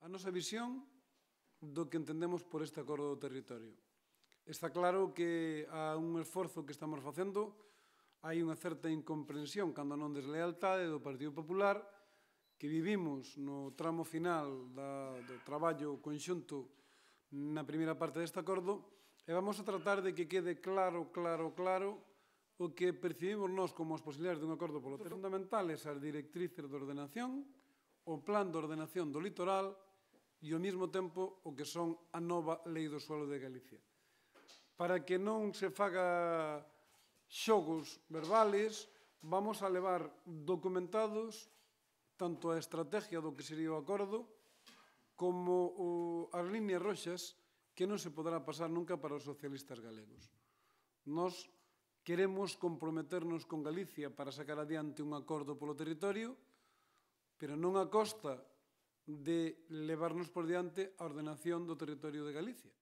A nosa visión do que entendemos por este acordo do territorio. Está claro que há un esforzo que estamos facendo, hai unha certa incomprensión, cando non deslealtade, do Partido Popular, que vivimos no tramo final do traballo conxunto na primeira parte deste acordo, e vamos a tratar de que quede claro o que percibimos nós como as posibilidades dun acordo polo territorio. Fundamentales as directrices de ordenación, o plan de ordenación do litoral e, ao mesmo tempo, o que son a nova Lei do Suelo de Galicia. Para que non se faga xogos verbales, vamos a levar documentados tanto a estrategia do que sería o acordo como as líneas roxas que non se poderá pasar nunca para os socialistas galegos. Nós queremos comprometernos con Galicia para sacar adiante un acordo polo territorio, pero non a costa de levarnos por diante a ordenación do territorio de Galicia.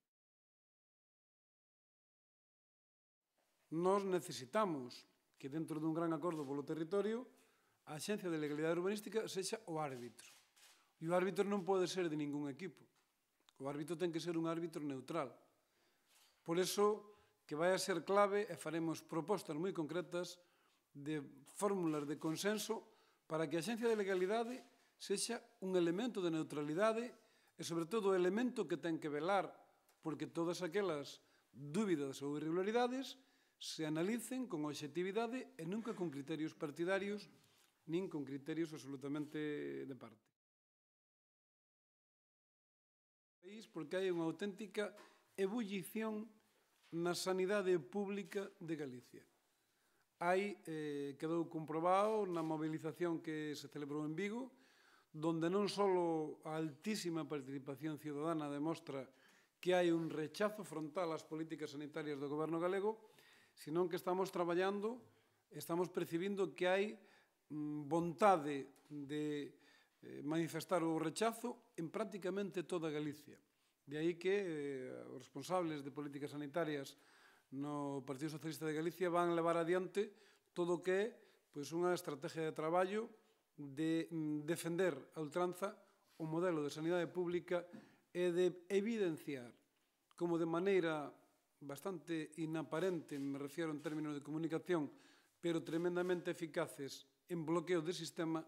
Nós necesitamos que dentro dun gran acordo polo territorio a Axencia de Legalidade Urbanística sexa o árbitro. E o árbitro non pode ser de ningún equipo. O árbitro ten que ser un árbitro neutral. Por iso que vai a ser clave e faremos propostas moi concretas de fórmulas de consenso para que a Axencia de Legalidade sexa un elemento de neutralidade e, sobre todo, o elemento que ten que velar porque todas aquelas dúbidas ou irregularidades se analicen con obxectividade e nunca con criterios partidarios nin con criterios absolutamente de parte. Porque hai unha auténtica ebullición na sanidade pública de Galicia. Quedou comprobado na movilización que se celebrou en Vigo, donde non só a altísima participación ciudadana demostra que hai un rechazo frontal ás políticas sanitarias do goberno galego, senón que estamos traballando, estamos percibindo que hai vontade de manifestar o rechazo en prácticamente toda Galicia. De aí que os responsables de políticas sanitarias no Partido Socialista de Galicia van levar adiante todo o que é unha estrategia de traballo de defender a ultranza o modelo de sanidade pública e de evidenciar como de maneira bastante inaparente, me refiero en términos de comunicación, pero tremendamente eficaces en bloqueo de sistema,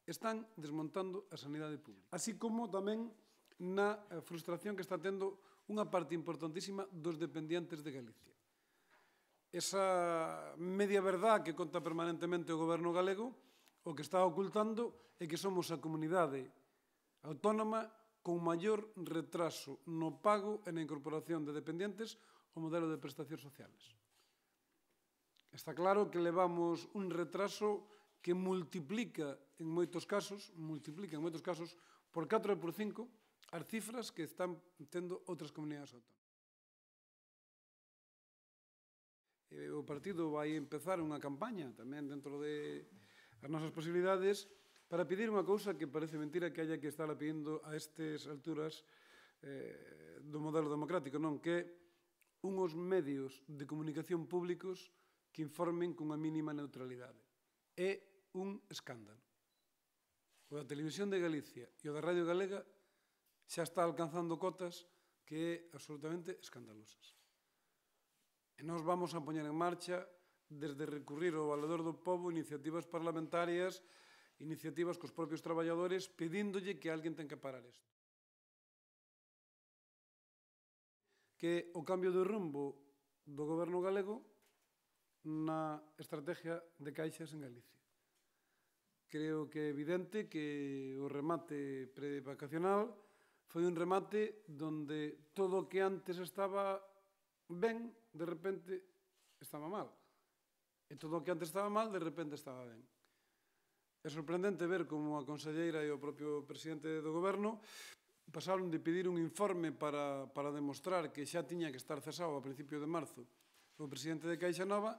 están desmontando a sanidade pública. Así como tamén na frustración que está tendo unha parte importantísima dos dependientes de Galicia. Esa media verdad que conta permanentemente o goberno galego, o que está ocultando é que somos a comunidade autónoma con maior retraso no pago e na incorporación de dependientes ao modelo de prestacións sociales. Está claro que levamos un retraso que multiplica en moitos casos por 4 e por 5 as cifras que están tendo outras comunidades autónomas. O partido vai empezar unha campaña tamén dentro das nosas posibilidades para pedir unha cousa que parece mentira que haya que estar pedindo a estas alturas do modelo democrático, non? Que é unhos medios de comunicación públicos que informen cunha mínima neutralidade. É un escándalo. O da Televisión de Galicia e o da Radio Galega xa está alcanzando cotas que é absolutamente escandalosas. E nós vamos a poñer en marcha, desde recurrir ao Valedor do Pobo, iniciativas parlamentarias, iniciativas cos propios traballadores, pedíndolle que alguén ten que parar isto. Que o cambio de rumbo do goberno galego na estrategia de caixas en Galicia. Creo que é evidente que o remate prevacacional foi un remate donde todo o que antes estaba ben, de repente estaba mal. E todo o que antes estaba mal, de repente estaba ben. É sorprendente ver como a conselleira e o propio presidente do goberno pasaron de pedir un informe para demostrar que xa tiña que estar cesado a principios de marzo o presidente de Caixa Nova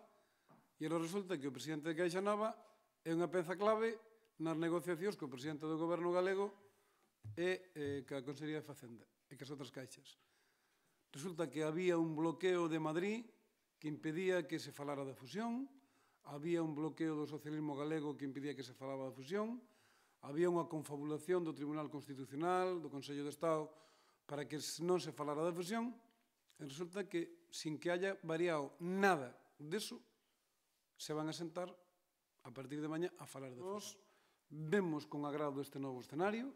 e agora resulta que o presidente de Caixa Nova é unha peza clave nas negociacións que o presidente do goberno galego e que a Consellería de Facenda e que as outras caixas. Resulta que había un bloqueo de Madrid que impedía que se falara da fusión, había un bloqueo do socialismo galego que impedía que se falaba da fusión, había unha confabulación do Tribunal Constitucional, do Consello de Estado, para que non se falara da fusión, e resulta que, sin que haya variado nada deso, se van a sentar a partir de mañá a falar de fusión. Vemos con agrado este novo escenario,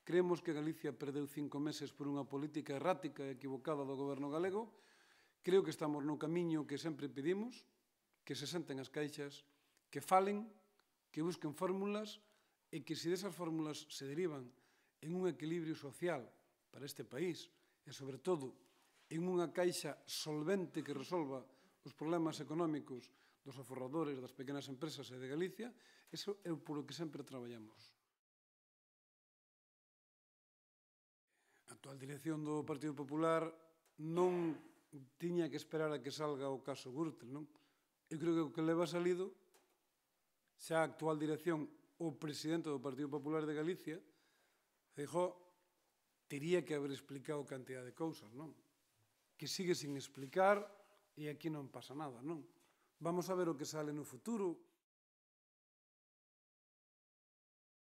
creemos que Galicia perdeu 5 meses por unha política errática e equivocada do goberno galego, creo que estamos no camiño que sempre pedimos, que se senten as caixas, que falen, que busquen fórmulas e que se desas fórmulas se derivan en un equilibrio social para este país e, sobre todo, en unha caixa solvente que resolva os problemas económicos dos aforradores, das pequenas empresas e de Galicia, iso é polo que sempre traballamos. A actual dirección do Partido Popular non tiña que esperar a que salga o caso Gürtel, non? Eu creo que o que leva salido, xa a actual dirección, o presidente do Partido Popular de Galicia, Feijóo, tería que haber explicado cantidad de cousas, non? Que sigue sin explicar e aquí non pasa nada, non? Vamos a ver o que sale no futuro.